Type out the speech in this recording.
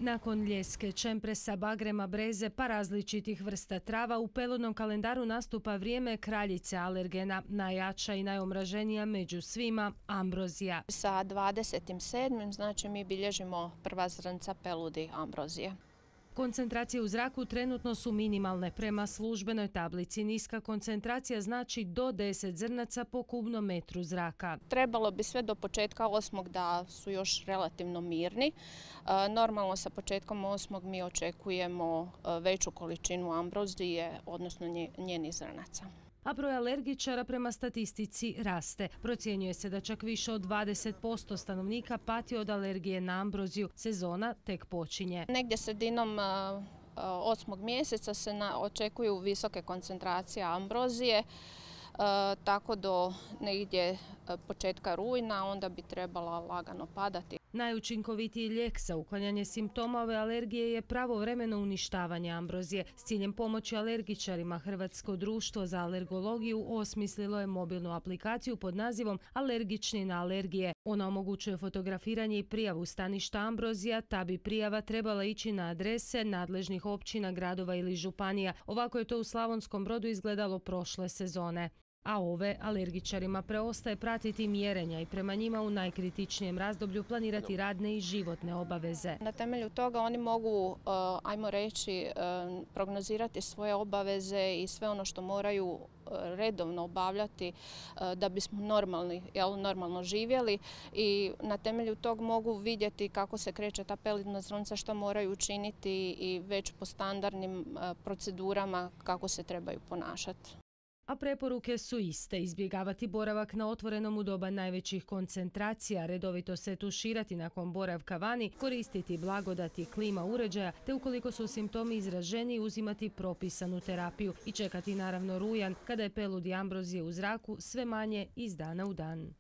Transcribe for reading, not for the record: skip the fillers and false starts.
Nakon ljeske, čempresa, bagrema, breze pa različitih vrsta trava, u peludnom kalendaru nastupa vrijeme kraljice alergena, najjača i najomraženija među svima, ambrozija. Sa 27. znači mi bilježimo prva zrnca peludi ambrozije. Koncentracije u zraku trenutno su minimalne. Prema službenoj tablici niska koncentracija znači do 10 zrnaca po kubnom metru zraka. Trebalo bi sve do početka 8. da su još relativno mirni. Normalno sa početkom 8. mi očekujemo veću količinu ambrozije, odnosno njenih zrnaca. A broj alergičara prema statistici raste. Procjenjuje se da čak više od 20% stanovnika pati od alergije na ambroziju. Sezona tek počinje. Negdje sredinom 8. mjeseca se očekuju visoke koncentracije ambrozije, tako do negdje početka rujna onda bi trebala lagano padati. Najučinkovitiji lijek za uklanjanje simptoma ove alergije je pravovremeno uništavanje ambrozije. S ciljem pomoći alergičarima Hrvatsko društvo za alergologiju osmislilo je mobilnu aplikaciju pod nazivom Alergični na alergije. Ona omogućuje fotografiranje i prijavu staništa ambrozija, ta bi prijava trebala ići na adrese nadležnih općina, gradova ili županija. Ovako je to u Slavonskom Brodu izgledalo prošle sezone. A ove alergičarima preostaje pratiti mjerenja i prema njima u najkritičnijem razdoblju planirati radne i životne obaveze. Na temelju toga oni mogu, ajmo reći, prognozirati svoje obaveze i sve ono što moraju redovno obavljati da bismo normalno živjeli i na temelju tog mogu vidjeti kako se kreće ta peludna zrnca, što moraju učiniti i već po standardnim procedurama kako se trebaju ponašati. A preporuke su iste: izbjegavati boravak na otvorenom u doba najvećih koncentracija, redovito se tuširati nakon boravka vani, koristiti blagodati klima uređaja, te ukoliko su simptomi izraženiji uzimati propisanu terapiju i čekati naravno rujan kada je peludi ambrozije u zraku sve manje iz dana u dan.